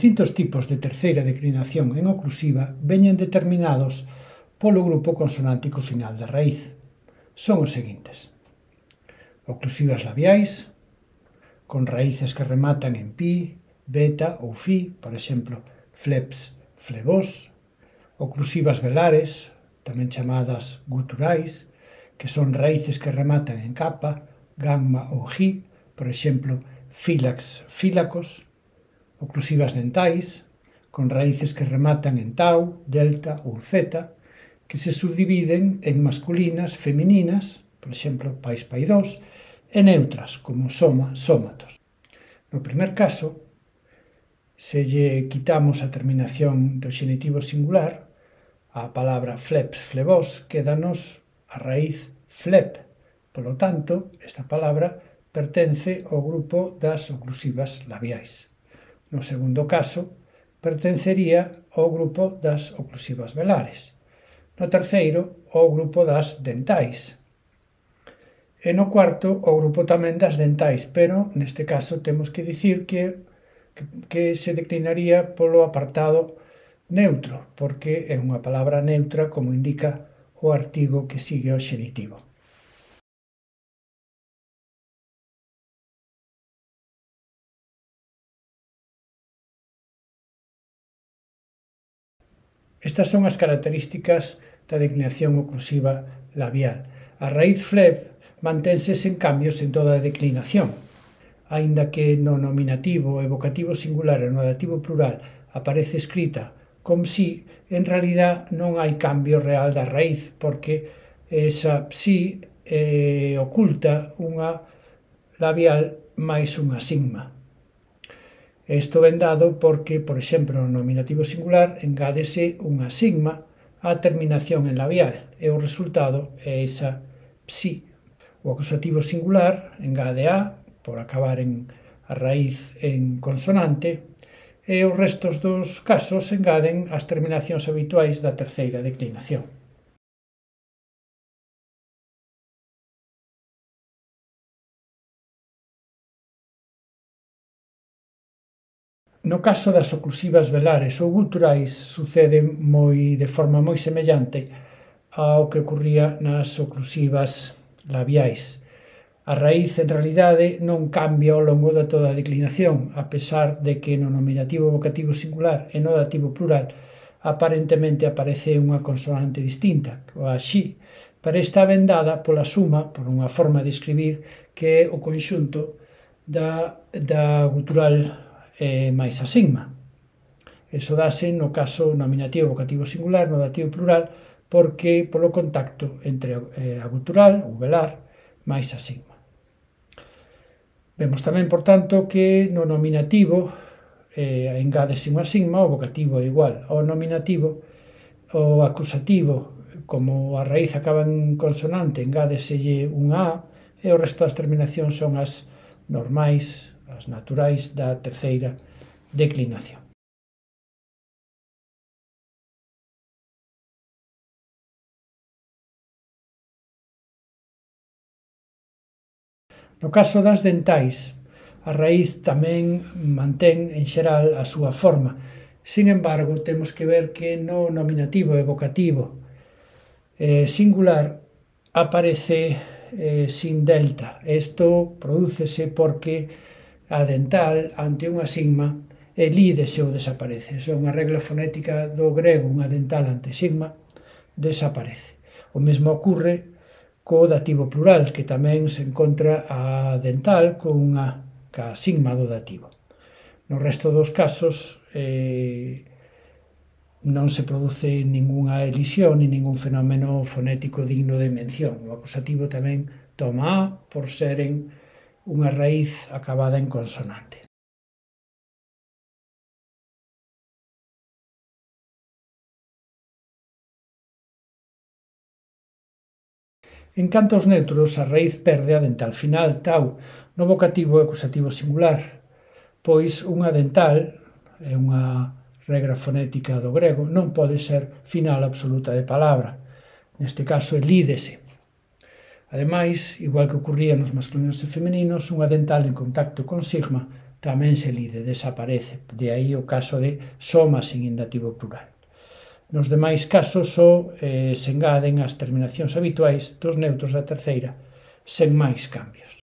distintos tipos de terceira declinación en oclusiva veñen determinados polo grupo consonántico final da raíz. Son os seguintes: oclusivas labiais, con raíces que rematan en pi, beta ou fi, por exemplo, fleps, flebós; oclusivas velares, tamén chamadas guturais, que son raíces que rematan en capa, gamma ou gi, por exemplo, fílax, fílacos; oclusivas dentais, con raíces que rematan en tau, delta ou zeta, que se subdividen en masculinas, femininas, por exemplo, pais, paidós, e neutras, como soma, sómatos. No primer caso, se lle quitamos a terminación do xenitivo singular, a palabra fleps, flebós, quédanos a raíz flep. Polo tanto, esta palabra pertence ao grupo das oclusivas labiais. No segundo caso, pertencería ao grupo das oclusivas velares. No terceiro, ao grupo das dentais. E no cuarto, ao grupo tamén das dentais, pero neste caso temos que dicir que se declinaría polo apartado neutro, porque é unha palabra neutra, como indica o artigo que sigue ao xenitivo. Estas son as características da declinación oclusiva labial. A raíz flep mantense sen cambios en toda a declinación, aínda que no nominativo, evocativo singular e no dativo plural aparece escrita con si, en realidad non hai cambio real da raíz, porque esa psi oculta unha labial máis unha sigma. Isto ven dado porque, por exemplo, no nominativo singular engádese unha sigma á terminación en labial e o resultado é esa psi. O acusativo singular engade a, por acabar en a raíz en consonante, e os restos dos casos engaden as terminacións habituais da terceira declinación. No caso das oclusivas velares ou guturais sucede de forma moi semellante ao que ocurría nas oclusivas labiais. A raíz, en realidade, non cambia ao longo de toda a declinación, a pesar de que no nominativo vocativo singular e no dativo plural aparentemente aparece unha consonante distinta, a xi, pero está vendada pola suma, por unha forma de escribir, que é o conxunto da gutural máis a sigma. Eso dase no caso nominativo vocativo singular, no dativo plural, porque polo contacto entre a gutural, ou velar, máis a sigma. Vemos tamén, por tanto, que no nominativo engádese unha sigma, o vocativo é igual ao nominativo, o acusativo, como a raíz acaba en consonante, engádeselle unha a, e o resto das terminacións son as normais, as naturais da terceira declinación. No caso das dentais, a raíz tamén mantén, en xeral, a súa forma. Sin embargo, temos que ver que no nominativo evocativo singular aparece sin delta. Isto prodúcese porque a dental, ante unha sigma, elídese ou desaparece. Iso é unha regla fonética do grego, unha dental ante sigma desaparece. O mesmo ocurre co dativo plural, que tamén se encontra a dental ca sigma do dativo. No resto dos casos non se produce ningunha elisión ni ningún fenómeno fonético digno de mención. O acusativo tamén toma a por seren unha raíz acabada en consonante. En canto aos neutros, a raíz perde a dental final, tau, no vocativo e acusativo singular, pois unha dental, é unha regra fonética do grego, non pode ser final absoluta de palabra. Neste caso, elídese. Ademais, igual que ocurría nos masculinos e femininos, unha dental en contacto con sigma tamén se lide, desaparece. De aí o caso de soma sin indativo plural. Nos demais casos só se engaden as terminacións habituais dos neutros da terceira sen máis cambios.